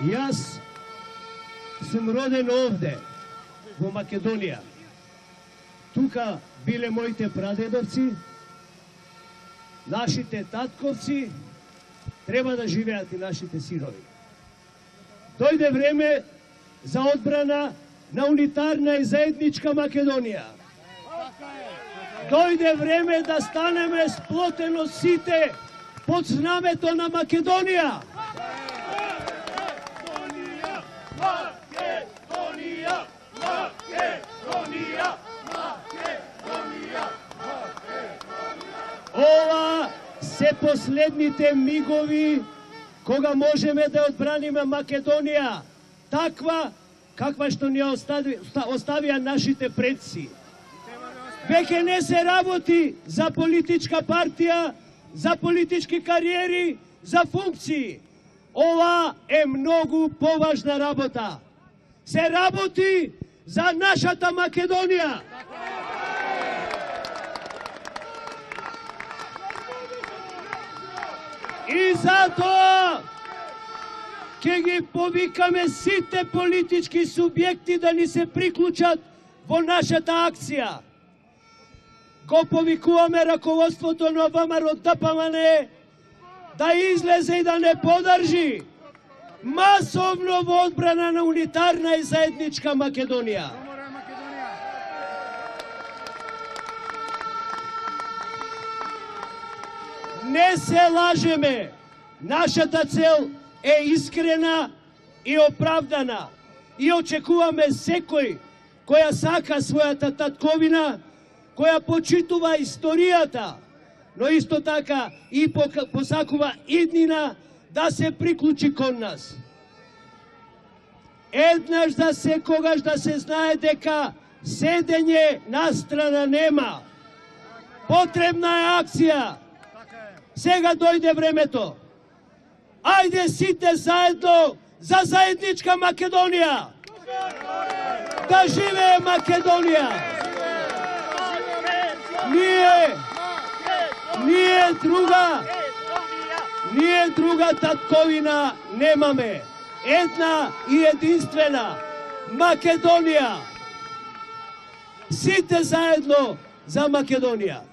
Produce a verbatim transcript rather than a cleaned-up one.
Јас сум роден овде, во Македонија. Тука биле моите прадедовци, нашите татковци, треба да живеат и нашите синови. Дојде време за одбрана на унитарна и заедничка Македонија. Дојде време да станеме сплотено сите под знамето на Македонија. Македонија, Македонија, Македонија, Македонија. Ова се последните мигови кога можеме да одбраниме Македонија, таква каква што ни остави, оставија нашите предци. Веќе не се работи за политичка партија, за политички кариери, за функции. Ова е многу поважна работа. Се работи за нашата Македонија. И затоа ќе ги повикаме сите политички субјекти да ни се приклучат во нашата акција. Го повикуваме раководството на ВМРО Д П М Н да излезе и да не подржи масовно во одбрана на унитарна и заедничка Македонија. Не се лажеме, нашата цел е искрена и оправдана и очекуваме секој која сака својата татковина, која почитува историјата, но исто така и посакува иднина да се приклучи кон нас. Еднаш за секогаш да се знае дека седење настрана нема. Потребна е акција. Сега дојде времето. Ајде сите заедно за заедничка Македонија. Да живее Македонија. Ние, ние друга, ние друга татковина немаме. Една и единствена Македонија. Сите заедно за Македонија.